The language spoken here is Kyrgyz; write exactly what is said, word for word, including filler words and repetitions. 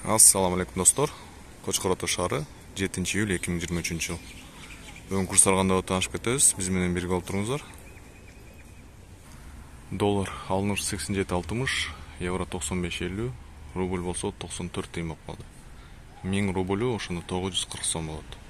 Ассаламу алейкум достор. Кочкор Ото шаары, жетинчи июль эки миң жыйырма үчүнчү жыл. Бүгүн курстар кандай таанышып кетебиз. Биз менен бирге болуп туруңуздар. Доллар алыныш сексен жети алтымыш, евро токсон беш элүү, рубль болсо токсон төрт тыйын болуп калды. миң рублю ошондо тогуз жүз кырк сом болот.